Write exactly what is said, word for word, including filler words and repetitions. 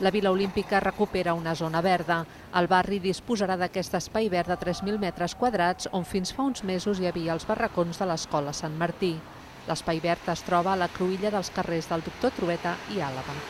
La Vila Olímpica recupera una zona verda. El barri disposarà d'aquest espai verd de tres mil metres quadrats on fins fa uns mesos hi havia els barracons de l'Escola Sant Martí. L'espai verd es troba a la cruïlla dels carrers del Doctor Trueta i Àlaba.